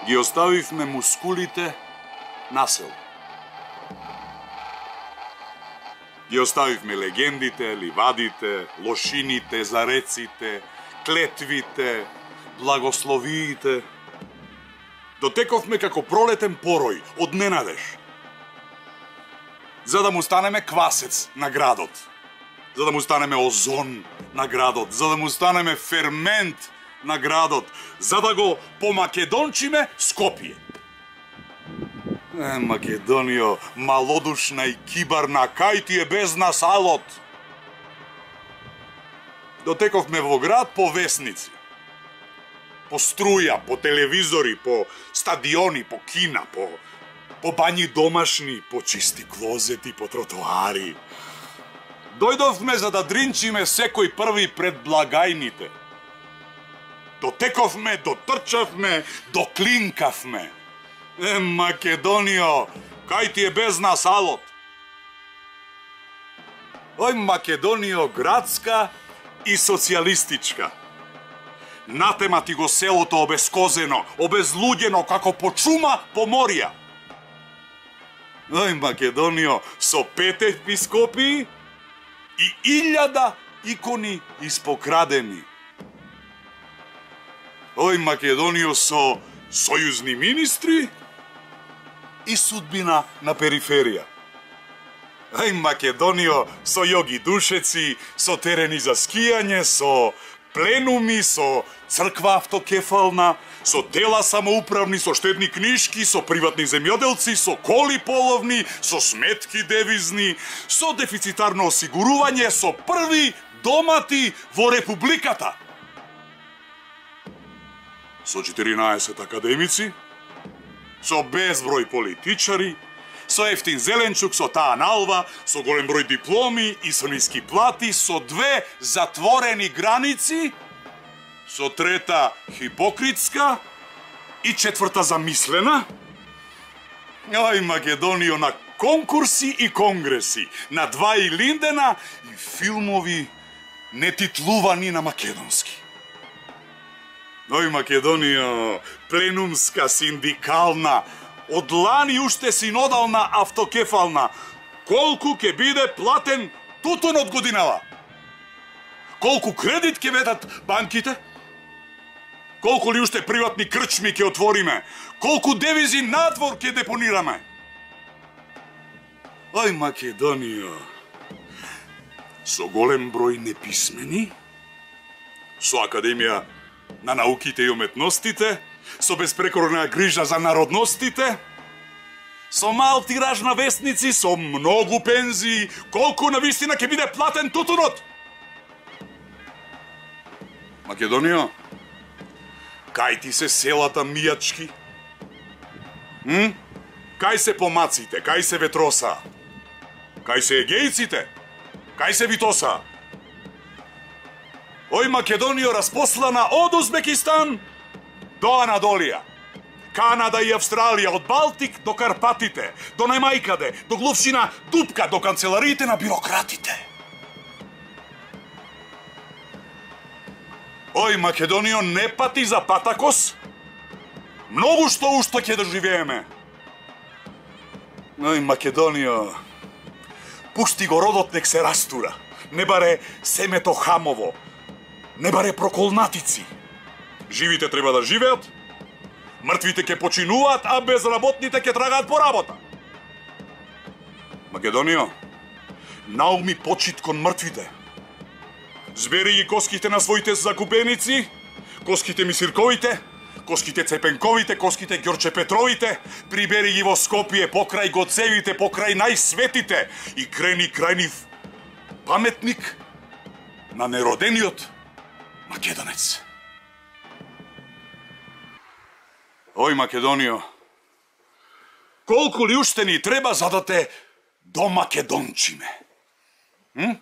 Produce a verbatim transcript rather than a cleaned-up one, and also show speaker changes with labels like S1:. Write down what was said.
S1: Ги оставивме мускулите на село. Ги оставивме легендите, ливадите, лошините, зареците, клетвите, благословиите. Дотековме како пролетен порој од ненадеж, за да му станеме квасец на градот, за да му станеме озон на градот, за да му станеме фермент на градот, за да го помакедончиме Скопје. Е, Македонио, малодушна и кибарна, кај ти е без нас алот? Дотековме во град по весници, по струја, по телевизори, по стадиони, по кина, по, по бањи домашни, по чисти клозети, по тротоари. Дојдовме за да дринчиме секој први пред благајните. Дотековме, дотрчавме, доклинкавме. Е, Македонио, кај ти е без нас алот? Ој, Македонио, градска и социјалистичка. Натема ти го селото обескозено, обезлуѓено како по чума по морија. Ој, Македонио, со пет епископии и илјада икони испокрадени. Ој, Македонио, со сојузни министри и судбина на периферија. Ај, Македонио, со јоги душеци, со терени за скијање, со пленуми, со црква автокефална, со тела самоуправни, со штедни книшки, со приватни земјоделци, со коли половни, со сметки девизни, со дефицитарно осигурување, со први домати во Републиката. Со четиринаесет академици, со безброј политичари, со ефтин зеленчук, со таа налва, со голем број дипломи и со ниски плати, со две затворени граници, со трета хипокритска и четврта замислена. Ај, Македонио, на конкурси и конгреси, на два и Линдена и филмови нетитлувани на македонски. Ој, Македонио, пленумска, синдикална, од лани уште синодална автокефална. Колку ќе биде платен тутун од годинава? Колку кредит ќе ведат банките? Колку ли уште приватни крчми ќе отвориме? Колку девизи надвор ќе депонираме? Ој, Македонио, со голем број неписмени, со Академија на науките и уметностите, со безпрекорна грижа за народностите, со мал тираж на вестници, со многу пензии, колку навистина ќе биде платен тутунот? Македонио, кај ти се селата мијачки? М? Кај се помаците, кај се ветроса? Кај се егејците? Кај се Витоса? Ој, Македонио, распослана од Узбекистан до Анадолија, Канада и Австралија, од Балтик до Карпатите, до Немајкаде, до глувшина Дупка, до канцелариите на бирократите. Ој, Македонио, не пати за Патакос, многу што ушто ќе доживееме. Ој, Македонио, пушти го родот нек се растура, не баре семето хамово, не баре проколнатици. Живите треба да живеат, мртвите ќе починуваат, а безработните ќе трагаат по работа. Македонио, науми почит кон мртвите. Збери ги коските на своите закупеници, коските мисирковите, коските цепенковите, коските Ѓорче Петровите, прибери ги во Скопје, покрај Гоцевите, покрај најсветите и крени крај нив паметник на неродениот македонец. Ој, Македонио, колку ли уште ни треба за да те домакедончиме? М?